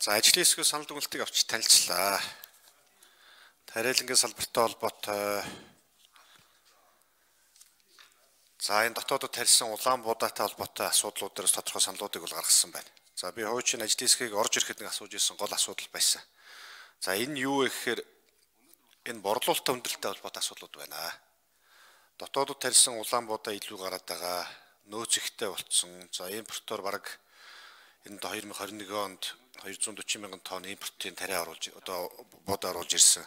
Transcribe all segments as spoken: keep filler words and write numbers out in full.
За ажлын хэсгийн санал дүгнэлтийг авч танилцлаа. Тариалангийн салбартай холбоотой за энэ дотоодод тарьсан улаан буудаатай холбоотой асуудлууд дээрс тодорхой саналуудыг бол гаргасан байна. За би хуучин ажлын хэсгийг орж ирэхэд нэг асууж ирсэн гол асуудал байсан. За энэ юу вэ гэхээр энэ борлуулалттай хүндрэлтэй холбоотой асуудлууд байна. Дотоодод тарьсан улаан буудаа илүү гараад байгаа, нөөц ихтэй болцсон. За импортоор бараг энэ хоёр мың хорин нэг онд хоёр зуун дөрвөн мянган тонн импортын тариа оруулж одоо буудаа оруулж ирсэн.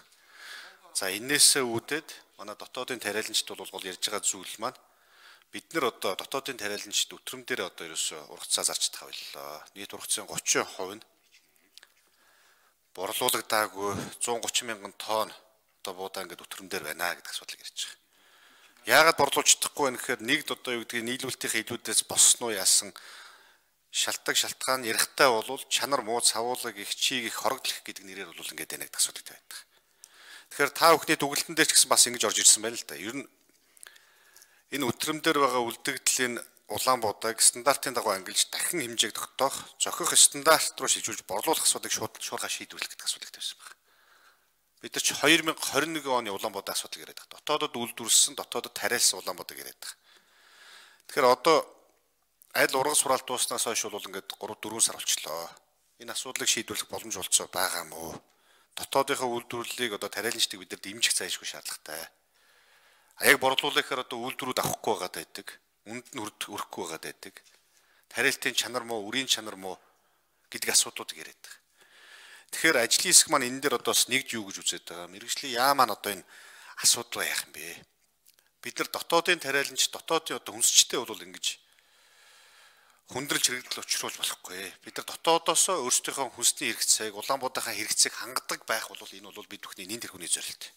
За энээсээ үүдээд манай дотоодын тариаланчид бол гол ярьж байгаа зүйл маань бид нар одоо дотоодын тариаланчид өтрөм дээр одоо ерөөсө ургацаа зарч тавилаа. Нийт ургацын гучин хувь нь борлуулагдаагүй зуун гучин мянган тонн одоо буудаа ингээд өтрөм дээр байна гэдэг асуудлыг ярьж байгаа. Яагаад борлуулж чадахгүй вэ гэхээр нэгд одоо юу гэдгийг нийлүүлэлтийн илүүдээс босноо яасан шалтгаан шалтгаан ярихтай болвол чанар муу цавуулаг их чийг их хорогдлох гэдэг нэрээр бол ингээд байна гэдэг асуудал байдаг. Тэгэхээр та бүхний дүгнэлтэн дээр ч гэсэн бас ингэж орж ирсэн байна л да. Ер нь энэ өтрөм дээр байгаа үлдэгдлийн улаан буудааг стандартын дагуу ангилж дахин хэмжээг тогтоох, зохих стандарт руу шилжүүлж борлуулах асуудлыг шууд шуурхай шийдвэрлэх гэдэг асуудал тавьсан байна. Бид нар ч хоёр мың хорин нэг оны улаан буудаа асуудал яриад байгаа. Дотоодод үйлдвэрлэсэн, дотоодод тариалсан улаан буудааг яриад байгаа. Тэгэхээр одоо аль ургас хураалт дууснаас хойш бол ингээд гурав дөрвөн сар болчихлоо. Энэ асуудлыг шийдвэрлэх боломж олцоо байгаа мó. Дотоодынхаа үйлдвэрлэлийг одоо тариаланчдыг бид нар дэмжих зайлшгүй шаардлагатай. Аяг борлуулахаар одоо үйлдвэрүүд авахгүй байгаад байдаг. Үнд нь өрөхгүй байгаад байдаг. Тариалтын чанар муу, үрийн чанар муу гэдэг асуудлуудыг яриад байгаа. Тэгэхээр ажлын хэсэг маань энэ дээр одоос нэгж юу гэж үзээд байгаа. Мэргэжлийн яа маань одоо энэ асуудал яах юм бэ? Бид нар дотоодын тариаланч, дотоодын одоо хүнсчтэй бол ингэж хүндрэлж хэрэгдэл учруулж болохгүй. Бид нар дотоодоосоо өөрсдийнхөө хүнсний хэрэгцээг, улаан буудаахан хэрэгцээг хангадаг байх бол энэ бол бид бүхний нэн тэрхүүний зорилт.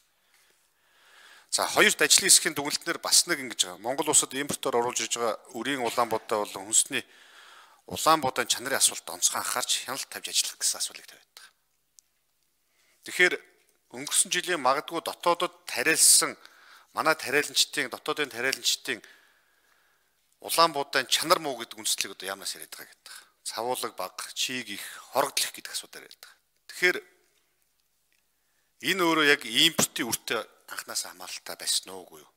За хоёрт ажлын хэсгийн дүгнэлтнэр бас нэг ингэж байгаа. Монгол улсад импортоор оруулж ирж байгаа үрийн улаан буудаа болон хүнсний улаан буудааны чанарын асуулт онцгой анхаарч хяналт тавьж ажиллах гэсэн асуулыг тавиад байгаа. Тэгэхээр өнгөрсөн жилийн магадгүй дотоодод тариалсан манай тариаланчдын дотоодын тариаланчдын улаан буудааны чанар муу гэдэг үндэслэлийг одоо яамнаас яриад байгаа гэдэг. Цавуулаг бага, чийг их, хорогдлох гэдэг асуудал яриад байгаа. Тэгэхээр энэ өөрөө яг импортын үртэй анханасаа хамааралтай байсан уугүй юу?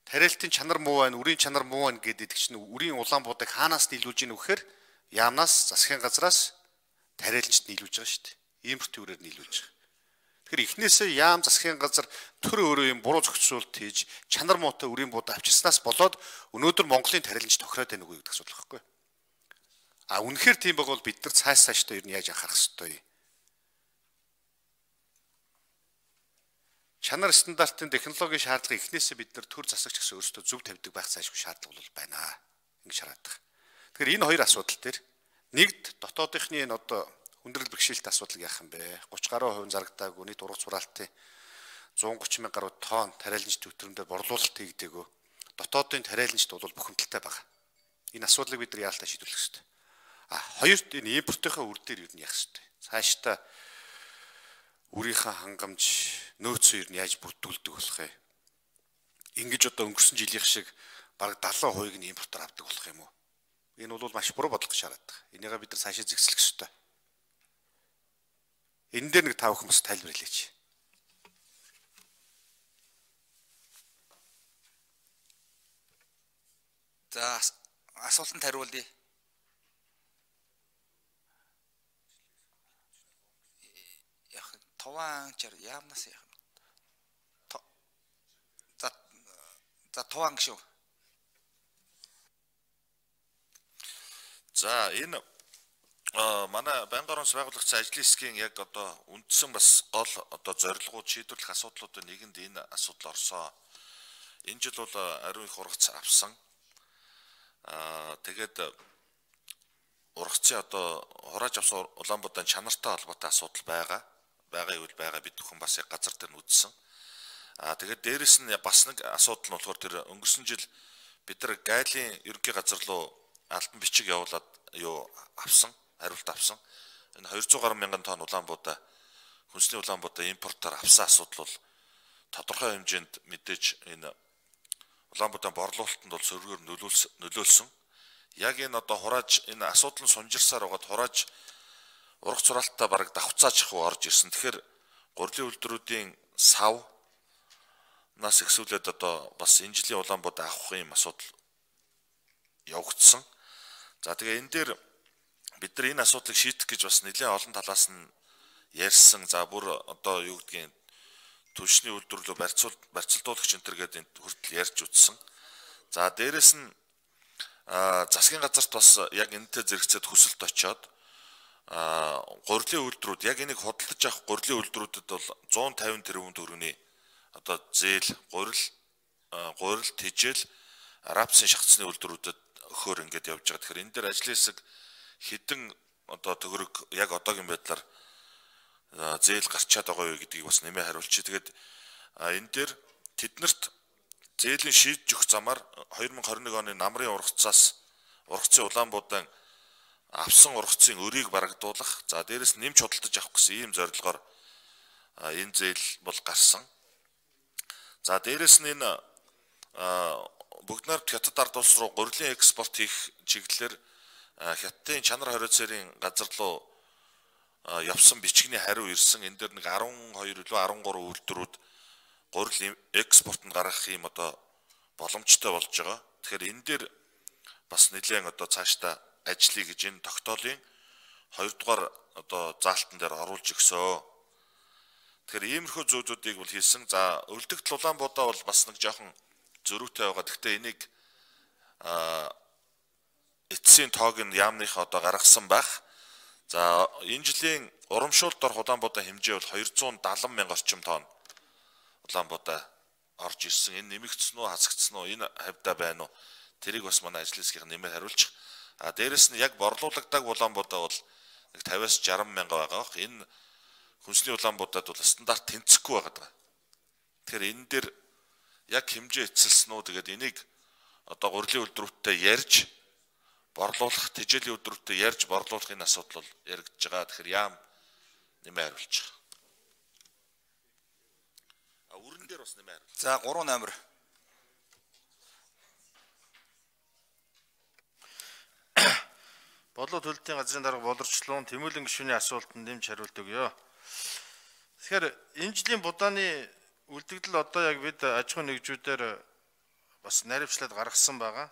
Тариалтын чанар муу байна, үрийн чанар муу байна гэдэг чинь үрийн улаан буудааг хаанаас нийлүүлж ийн вэхээр яамнаас засгийн газраас тариаланчд нийлүүлж байгаа шүү дээ. Импортын үрээр нийлүүлж байгаа. Тэгэхээр эхнээсээ яам засгийн газар төр өөрөө юм буруу зохицуулт хийж чанар муутай үрийн буудаа авчирснаас болоод өнөөдөр Монголын тариаланч тохироод байна уу гэдэг асуудал байхгүй. А үнэхээр тийм байгавал бид нар цааш цаашдаа ер нь яаж анхаарах ёстой юм? Чанар стандартын технологийн шаардлагыг эхнээсээ бид нар төр засагч гэсэн өөрсдөө зөв тавьдаг байх цаашгүй шаардлага бол байна. Ингэж хараад байгаа. Тэгэхээр энэ хоёр асуудал дээр нэгд дотоодынхны энэ одоо хүндрэл бэрхшээлт асуудал яах юм бэ? гуравч гаруй хувь зарагдаагүй нийт ургац хураалтын зуун гучин мянга гаруй тонн тариаланчд өтрөмдөө борлуулалт хийгдээгөө. Дотоодын тариаланчд бол бухимдалтай байгаа. Энэ асуудлыг бид нар яалтаа шийдвэрлэх ёстой. А хоёрт энэ импортынхаа үр дээр юу нь яах ёстой. Цаашдаа үрийнхээ хангамж нөөцөө юу нь яаж бүрдүүлдэг болох юм? Ингэж одоо өнгөрсөн жилийн шиг бараг далайн хувийг нь импортоор авдаг болох юм уу? Энэ бол маш буруу бодлого шаарад байгаа. Энийгээ бид нар цаашаа зэгслэх ёстой. Энэ дээр нэг тав хүмүүс тайлбар хэлээч. За асуултанд хариулъя. Яг тован чар яамнаас яах юм? За за тован шүү. За энэ манай байнгын орон байгуулагчдын ажлын хэсгийн яг одоо үндсэн бас гол одоо зорилгууд шийдвэрлэх асуудлуудын нэгэнд энэ асуудал орсон. Энэ жил бол ариун их ургац авсан. Аа тэгээд ургацын одоо хурааж авсан улаан буудааны чанартай холбоотой асуудал байгаа. Байгаа юу байгаа бид бүхэн бас яг газар дээр нь үзсэн. Аа тэгээд дээрэс нь бас нэг асуудал нь болохоор тэр өнгөрсөн жил бид нар гайлын ерөнхий газар руу алтан бичиг явуулаад юу авсан. Хариулт авсан. Энэ хоёр зуун гаруй мянган тонн улаан буудаа хүнсний улаан буудаа импортоор авсан асуудал бол тодорхой хэмжээнд мэдээж энэ улаан буудааны борлуулалтанд бол сөргөөр нөлөөлсөн. Яг энэ одоо хурааж энэ асуудал нь сунжирсаар байгаад хурааж ургац сураалтаа бараг давхцаач хуу орж ирсэн. Тэгэхээр гурилын үйлдвэрүүдийн сав нас ихсүүлээд одоо бас энэ жилийн Улаанбаатар авах юм асуудал явагдсан. За тэгээ энэ дээр бид нар энэ асуудлыг шийдэх гэж бас нэлээд олон талаас нь ярьсан. За бүр одоо юу гэдгийг түлшний үйлдвэрлэлөө барьцуул барьцалдуулагч энэ төр гэдэг хүртэл ярьж үтсэн. За дээрэс нь засгийн газарт бас яг энэтэй зэрэгцээд хүсэлт очоод гурилын үйлдвэрүүд яг энийг худалдаж авах гурилын үйлдвэрүүдэд бол зуун тавин тэрбум төгрөгийн одоо зээл гурил гурил тижэл рапсын шахацны үйлдвэрүүдэд өгөхөөр ингээд явж байгаа. Тэгэхээр энэ дээр ажлын хэсэг хэдэн одоо төгрөг яг одоогийн байдлаар зээл гарчаад байгаа юу гэдгийг бас нэмээ хариулчих. Тэгээд энэ дээр тэднэрт зээлийн шийдэж өгөх замаар хоёр мың хорин нэг оны намрын ургацаас ургацын Улаанбаатар авсан ургацын өрийг барагдуулах, за дээрэс нь нэмж худалдаж авах гэсэн ийм зорилгоор энэ зээл бол гарсан. За дээрэс нь энэ бүгд найрамд хятад ард улс руу гурилын экспорт хийх чиглэлээр хятадын чанар хориоцоорын газар руу явсан бичгийн хариу ирсэн. Энэ дээр нэг арван хоёр илүү арван гурван үйлдвэрүүд гурил экспортод гаргах юм одоо боломжтой болж байгаа. Тэгэхээр энэ дээр бас нэлээд одоо цаашдаа ажлыг гэж энэ тогтоолын хоёрдугаар одоо заалтан дээр оруулж өгсөө. Тэгэхээр иймэрхүү зүйлүүдийг бол хийсэн. За өлдөгт Улаанбаатар бол бас нэг жоохон зөрүүтэй байгаа. Гэхдээ энийг эцсийн тоог нь яамныхаа одоо гаргасан байх. За энэ жилийн урамшуулт дор Улаанбаатар хэмжээ бол хоёр зуун дагалан мянга орчим тонн Улаанбаатар орж ирсэн. Энэ нэмэгдсэн үү, хасагдсан уу, энэ хавьда байна уу? Тэрийг бас манай ажлын хэсгийн нэмээр хариулчих. А дээрэс нь яг борлуулагдаг Улаанбаатар бол нэг тавиас жаран мянга байгаа. Энэ хүнсний Улаанбаатарт бол стандарт тэнцэхгүй байгаа. Тэгэхээр энэ дээр яг хэмжээ эцэлсэн үү? Тэгээд энийг одоо гурилын үйлдвэрүүдтэй ярьж борлуулах, тэжээлийн үйлдвэрүүдтэй ярьж борлуулах энэ асуудал бол яригдж байгаа. Тэгэхээр яам нэмээ хариулчих. А үрэн дээр бас нэмээ хариулчих. За гурван номер. Бодлого төлөлтийн газрын дарга боловсчлон Тэмүүлэн гишүүний асуултанд нэмж хариулт өгье. Тэгэхээр энэ жилийн будааны үлдэгдэл одоо яг бид аж ахуйн нэгжүүдээр бас наривчлаад гаргасан байгаа.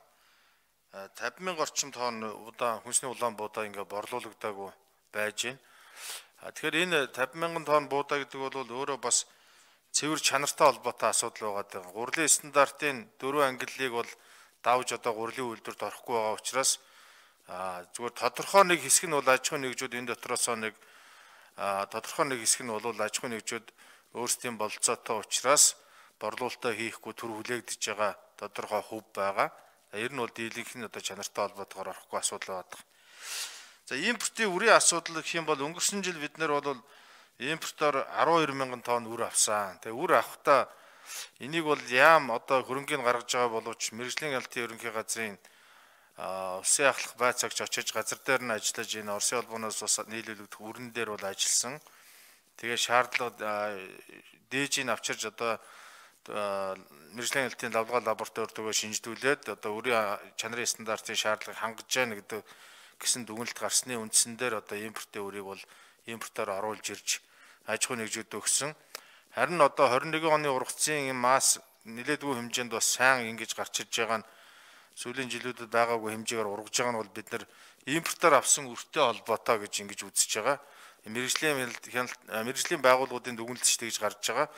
тавин мянга орчим тонн удаан хүнсний Улаанбаатар ингээ борлуулагдаагүй байж байна. Тэгэхээр энэ тавин мянган тонн буудаа гэдэг бол өөрөө бас цэвэр чанартай холбоотой асуудал байгаа. Гурилын стандартын дөрвөн ангиллыг бол давж одоо гурилын үйлдвэрт орохгүй байгаа учраас зүгээр тодорхой нэг хэсэг нь бол аж ахуйн нэгжүүд энэ дотроос нэг тодорхой нэг хэсэг нь бол аж ахуйн нэгжүүд өөрсдийн бололцоотой учраас борлуулалтаа хийхгүй төр хүлээгдэж байгаа тодорхой хөв байгаа. Ер нь бол дийлэнх нь одоо чанартай холбоотойгоор орохгүй асуудал байдаг. За импортын үрийн асуудал гэх юм бол өнгөрсөн жил бид нэр бол импортоор арван хоёр мянган тонн үр авсан. Тэгээ үр авахдаа энийг бол яам одоо хөрөнгийг гаргаж байгаа боловч мэргэжлийн ялтын ерөнхий газрын улсын ахлах байцаагч очиж газар дээр нь ажиллаж энэ Оросын холбооноос бас нийлүүлэгдэх үрэн дээр бол ажилласан. Тэгээ шаардлага дээжийг авчирж одоо мэргэжлийн ялтын лавлгаа лабораторид өгөө шинжлүүлээд одоо үрийн чанарын стандартын шаардлагыг хангаж байна гэдэг гэсэн дүгнэлт гарсны үндсэн дээр одоо импортын үрийг бол импортоор оруулж ирж аж ахуйн нэгжүүд өгсөн. Харин одоо хорин нэгэн оны ургацын масс нэлээдгүй хэмжээнд бас сайн ингэж гарч ирж байгаа нь сүүлийн жилүүдэд байгаагүй хэмжээгээр ургаж байгаа нь бол бид нар импортоор авсан үртэй холбоотой гэж ингэж үзэж байгаа. Мэргэжлийн мэргэжлийн байгууллагуудын дүгнэлтч тэгж гарч байгаа.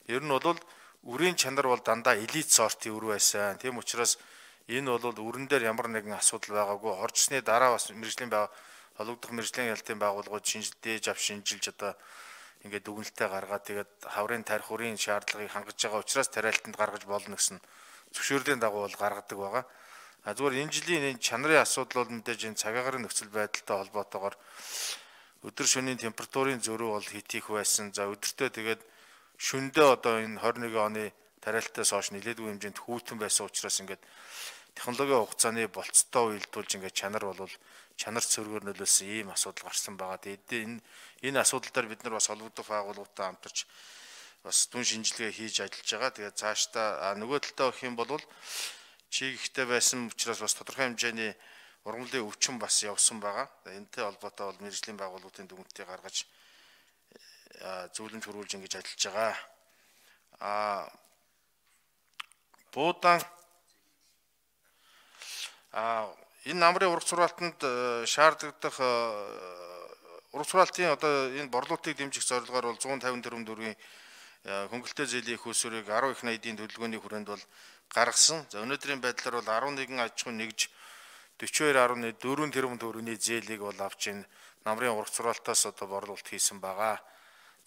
Ер нь бол үрийн чанар бол дандаа элит сортын үр байсан. Тийм учраас энэ бол үрэн дээр ямар нэгэн асуудал байгаагүй. Оржсны дараа бас мэргэжлийн холбогдох мэргэжлийн ялтын байгууллагууд шинжилдээж ав шинжилж одоо ингээд дүгнэлтээ гаргаад тэгээд хаврын тарих үрийн шаардлагыг хангаж байгаа учраас тариалтанд гаргаж болно гэсэн зөвшөөрлийн дагуу бол гаргадаг байгаа. А зүгээр энэ жилийн энэ чанарын асуудал бол мэдээж энэ цагаагаар нөхцөл байдалтай холбоотойгоор өдөр шөнийн температурын зөрүү бол хит их байсан. За өдөртөө тэгээд шөндөө одоо энэ хорин нэгэн оны тариалтаас хойш нэлээдгүй хэмжээнд хүүтэн байсан учраас ингээд технологийн хугацааны болцтой уялдуулж ингээд чанар бол чанар цөргөөр нөлөөсөн ийм асуудал гарсан байгаа. Тэгээд энэ энэ асуудал дээр бид нар бас холбогдох байгууллагуудтай хамтарч бас дүн шинжилгээ хийж ажиллаж байгаа. Тэгээд цаашдаа нөгөө талдаа гэх юм бол чиг ихтэй байсан учраас бас тодорхой хэмжээний ургамлын өвчин бас явсан байгаа. Энэтэй холбоотой бол мэргэжлийн байгууллагын дүгнэлтийг гаргаж зөвлөмж хөрвүүлж ингэж ажиллаж байгаа. А буудан а энэ намрын ургац сургаалтанд шаардлагадах ургац сургаалтын одоо энэ борлуулалтыг дэмжих зорилгоор бол зуун тавин тэрбум төгрөгийн хөнгөлөлтөө зээлийн их усурыг арван их найдын төлөвлөгөөний хүрээнд бол гаргасан. За өнөөдрийн байдлаар бол арван нэгэн аж ахуйн нэгж дөрвөн хоёр гаруй дөрвөн тэрбум төгрөгийн зээлийг бол авч энэ намрын ургац сургаалтаас одоо борлуулалт хийсэн байгаа.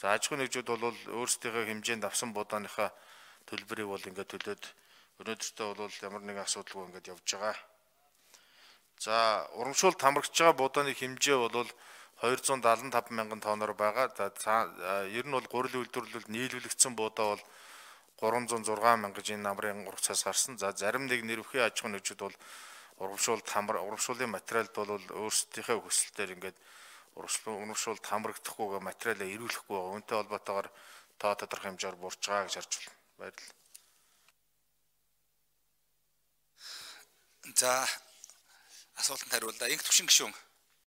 За аж ахуйн нэгжүүд бол өөрсдийнхөө хэмжээнд авсан будааныхаа төлбөрийг бол ингээд төлөөд өнөөдөртөө бол ямар нэгэн асуудалгүй ингээд явж байгаа. За урамшуулалт хамрагч байгаа будааны хэмжээ бол двести седемдесет и пять мянган тонноор байгаа. За ер нь бол гурил үйлдвэрлэлд нийлүүлэгдсэн будаа бол гурамзан зургаан мянга гэж энэ намрын ургацаас гарсан. За зарим нэг нэрвхийн аж ахуйн нэгжүүд бол урамшуулалт хамар урамшууллын материалд бол өөрсдийнхөө хүсэлтээр ингээд урамшуулалт хамрагдахгүйгээ материалаа ирүүлэхгүй байгаа. Үүнтэй холбоотойгоор тоо тодорхой хэмжээгээр буурч байгаа гэж харж байна. Баярлалаа. За асуултанд хариуллаа. Инх төвшин гишүүн.